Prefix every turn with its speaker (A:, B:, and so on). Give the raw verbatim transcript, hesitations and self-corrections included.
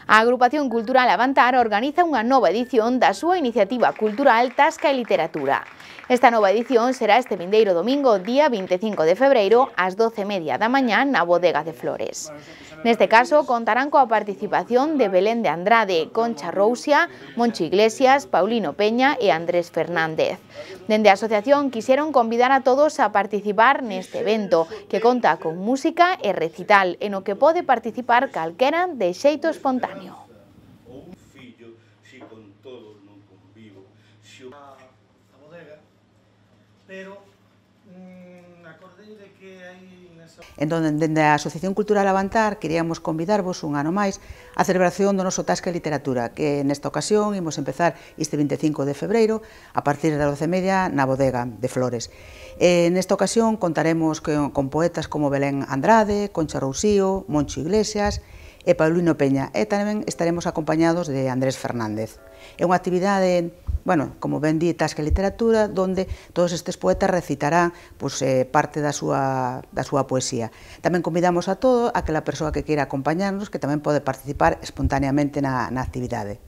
A: A Agrupación Cultural Avantar organiza unha nova edición da súa iniciativa cultural Tasca e Literatura. Esta nova edición será este vindeiro domingo, día vinte e cinco de febreiro, ás doce e media da mañá na Bodega de Flores. Neste caso, contarán coa participación de Belén de Andrade, Concha Rousia, Moncho Iglesias, Paulino Peña e Andrés Fernández. Dende a asociación quixeron convidar a todos a participar neste evento, que conta con música e recital, e no que pode participar calquera de xeito espontáneo.
B: Entón, dende a Asociación Cultural Avantar, queríamos convidarvos un ano máis a celebración do noso Tasca e Literatura, que nesta ocasión imos empezar este vinte e cinco de febreiro a partir das doce e media na Bodega de Flores. E nesta ocasión contaremos con, con poetas como Belén Andrade, Concha Rousío, Moncho Iglesias e Paulino Peña, e tamén estaremos acompañados de Andrés Fernández. É unha actividade, bueno, como ben di, Tasca e Literatura, donde todos estes poetas recitarán pues, eh, parte da súa, da súa poesía. Tamén convidamos a todo aquela persoa que queira acompañarnos, que tamén pode participar espontaneamente na, na actividade.